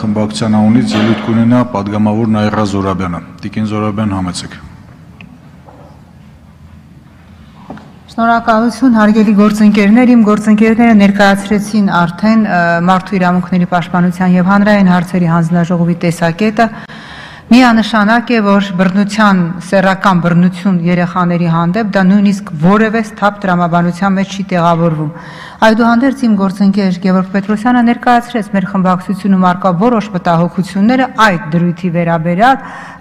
խմբակցության անունից ելույթ կունենա պատգամավոր Նաիրա Զորաբյանը։ Տիկին Զորաբյան, համեցեք։ Շնորհակալություն, հարգելի գործընկերներ, իմ գործընկերները ներկայացրեցին արդեն մարդու իրավունքների պաշտպանության եւ հանրային հարցերի հանձնաժողովի տեսակետը։ Միանշանակ է, որ բռնության, սեռական բռնություն երեխաների հանդեպ դա նույնիսկ որևէ սթափ տրամաբանության մեջ չի տեղավորվում։ Այդուհանդերձ իմ գործընկեր Գևորգ Պետրոսյանը ներկայացրեց մեր խմբակցությունում արկա որոշ մտահոգությունները այդ դրույթի վերաբերյալ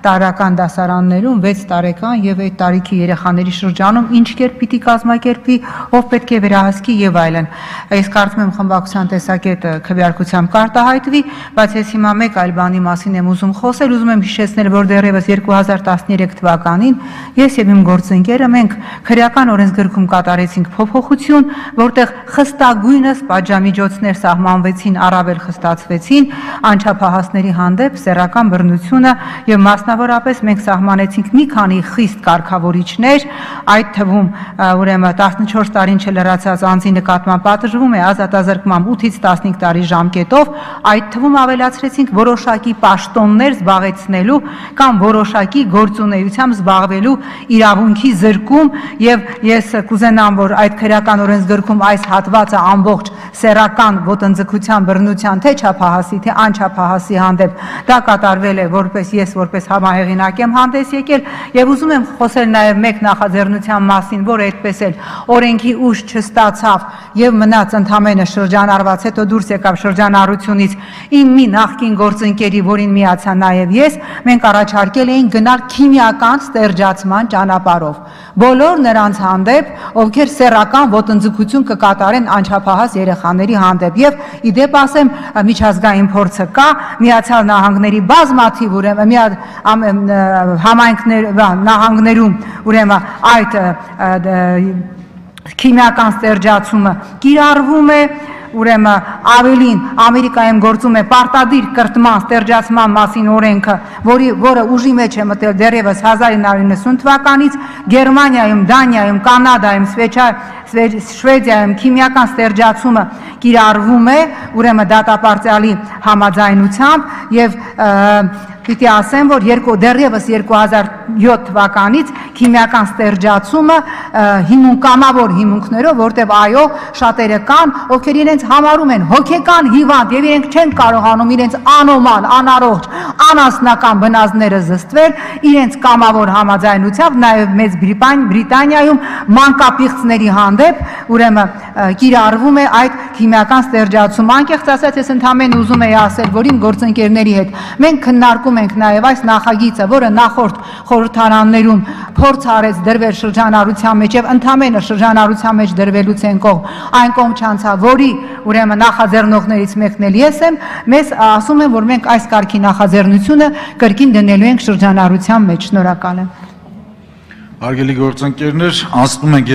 տարրական դասարաններում 6 տարեկան եւ այդ տարիքի երեխաների շրջանում ինչ կերպ պիտի կազմակերպվի, ով պետք է վերահսկի եւ այլն։ Ես կարծում եմ խմբակցության տեսակետը քվեարկությամբ կարտահայտվի, բայց ես հիմա մեկ այլ բանի մասին եմ ուզում խոսել, ուզում եմ հիշեցնել, որ դեռևս 2013 թվականին ես եւ իմ գործընկերը մենք քրեական օրենսգրքում կատարեցինք փոփոխություն, որտեղ խստագույնս պատժամիջոցներ սահմանվեցին, առավել խստացվեցին անչափահասների հանդեպ սեռական բռնությունը եւ մասնավորապես մենք սահմանեցինք մի քանի խիստ կարգավորիչներ, այդ թվում ուրեմն 14 տարին չլրացած անձի նկատմամբ պատժվում է ազատազրկմամբ 8-ից 15 տարի ժամկետով, այդ թվում ավելացրեցինք որոշակի պաշտոններ զբաղեցնելու կամ որոշակի գործունեությամբ զբաղվելու իրավունքի զրկում եւ ես կուզենամ, որ այդ քրեական օրենսգրքում այս հատվածը ամբողջ սեռական ոտնձգության բռնության թե չափահասի թե անչափահասի հանդեպ դա կատարվել է որպես ես որպես համահեղինակ եմ հանդես եկել եւ ուզում եմ խոսել նաեւ մեկ նախաձեռնության մասին, որը այդպես էլ օրենքի ուժ չստացավ եւ մնաց ընդամենը շրջանառված, հետո դուրս եկավ շրջանառությունից իմ մի նախկին գործընկերի, որին միացա նաեւ ես, մենք առաջարկել էինք գնալ քիմիական ստերջացման ճանապարհով բոլոր նրանց հանդեպ, ովքեր սեռական ոտնձգություն կկատարեն անչափահաս երեխաների հանդեպ եւ իդեպ ասեմ միջազգային փորձը կա Միացյալ Նահանգների բազմաթիվ ուրեմն նահանգներում ուրեմն այդ քիմիական ստերջացումը կիրառվում է ուրեմն ավելին Ամերիկայում գործում է պարտադիր կրթման ստերջացման մասին օրենքը, որը ուժի մեջ է մտել դեռևս 1990 թվականից, Գերմանիայում, Դանիայում, Կանադայում, Շվեդիայում քիմիական ստերջացումը կիրառվում է, ուրեմն դատապարտյալի համաձայնությամբ եւ պիտի ասեմ, որ դեռևս 2007 թվականից քիմիական ստերջացումը կամավոր հիմունքներով, որտեղ այո, շատերը կան, ովքեր իրենց համարում են հոգեկան հիվանդ եւ իրենք չեն կարողանում իրենց անոմալ, անառողջ, անասնական բնազդները զսպել, իրենց կամավոր համաձայնությամբ նաեւ Մեծ Բրիտանիայում մանկապիղծների հանդեպ ուրեմն կիրառվում է այդ քիմիական ստերջացումը։ Անկեղծ ասած, ես ընդհանրապես ուզում եի ասել, որ իմ գործընկերների հետ մենք քննարկում ենք նաև այս նախագիծը, որը նախորդ խորհրդարաններում փորձ արեց դրվել շրջանառության մեջ եւ ընդամենը շրջանառության մեջ դրվելուց են այն կողմ չանցավ, որի ուրեմն նախաձեռնողներից մեկն էլ ես եմ, մեզ ասում են, որ մենք այս կարգի նախաձեռնությունը կրկին դնելու ենք շրջանառության մեջ։ Շնորհակալ եմ։ Հարգելի գործընկերներ, անցնում ենք